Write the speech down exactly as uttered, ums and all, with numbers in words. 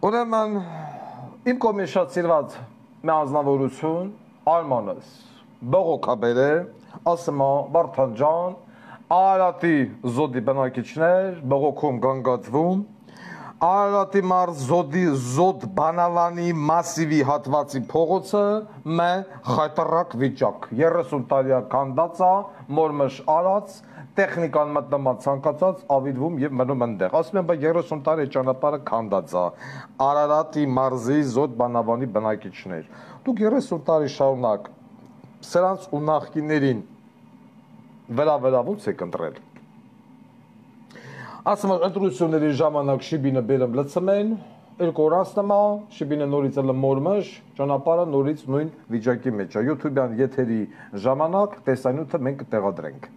Ուրեմն իմ կողմից շատ սիրված մի անձնավորություն Արմանս բողոքաբեր է, ասում է Վարդան ջան, Արարատի զոդի բնակիչներ բողոքում գանգատվում, Արարատի մարզ զոդի զոդ բանալանի մասիվի հատվածի փողոցը մե խայտարակ վիճակ, երեսուն տարի կանդած է, մորմշ արած, տեխնիկան մտնումա ցանկացած ավիդվում եւ մնում ընդեղ։ Ասում եմ, բա երեսուն տարի ճանապարհը քանդած է։ Արարատի մարզի զոդ բանավանի բնակիչներ։ Դուք երեսուն տարի շարունակ սրանց ու նախկիներին վերաբերավունց եք ընտրել։ Ասում եմ, ընտրությունների ժամանակ Շիբինը բերեմ լցմեն, երկու օր անցնումա, Շիբինը նորից էլ մորմշ, ճանապարհը նորից նույն վիճակի մեջ է։ YouTube-յան եթերի ժամանակ տեսանյութը մենք կտեղադրենք։